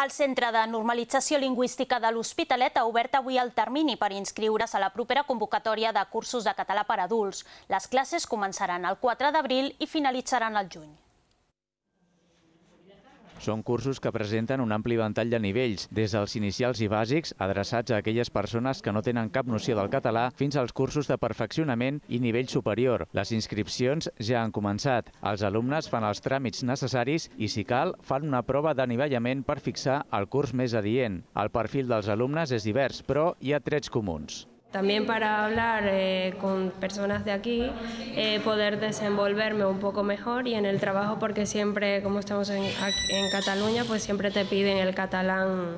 El Centre de Normalització Lingüística de l'Hospitalet ha obert avui el termini per inscriure's a la propera convocatòria de cursos de català per a adults. Les classes començaran el 4 d'abril i finalitzaran al juny. Són cursos que presenten un ampli ventall de nivells, des dels inicials i bàsics, adreçats a aquelles persones que no tenen cap noció del català, fins als cursos de perfeccionament i nivell superior. Les inscripcions ja han començat. Els alumnes fan els tràmits necessaris i, si cal, fan una prova d'anivellament per fixar el curs més adient. El perfil dels alumnes és divers, però hi ha trets comuns. También para hablar con personas de aquí, poder desenvolverme un poco mejor y en el trabajo, porque siempre, como estamos en Cataluña, pues siempre te piden el catalán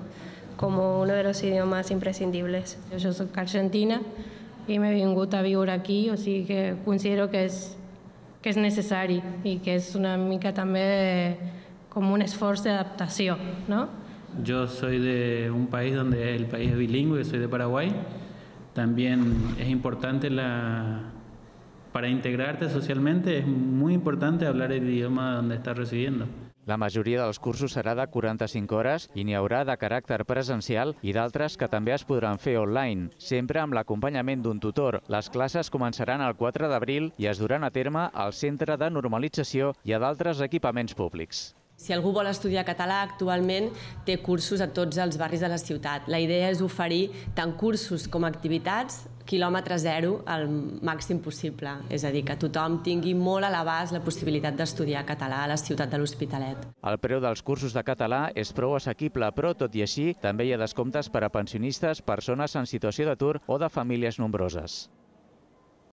como uno de los idiomas imprescindibles. Jo soc argentina i m'he vingut a viure aquí, o sigui que considero que és necessari i que és una mica també com un esforç d'adaptació, ¿no? Yo soy de un país donde el país es bilingüe, soy de Paraguay. También es importante para integrarte socialmente, es muy importante hablar el idioma donde estás residiendo. La majoria dels cursos serà de 45 hores i n'hi haurà de caràcter presencial i d'altres que també es podran fer online, sempre amb l'acompanyament d'un tutor. Les classes començaran el 4 d'abril i es duran a terme al Centre de Normalització i a d'altres equipaments públics. Si algú vol estudiar català, actualment té cursos a tots els barris de la ciutat. La idea és oferir tant cursos com activitats quilòmetre zero al màxim possible. És a dir, que tothom tingui molt a l'abast la possibilitat d'estudiar català a la ciutat de l'Hospitalet. El preu dels cursos de català és prou assequible, però, tot i així, també hi ha descomptes per a pensionistes, persones en situació d'atur o de famílies nombroses.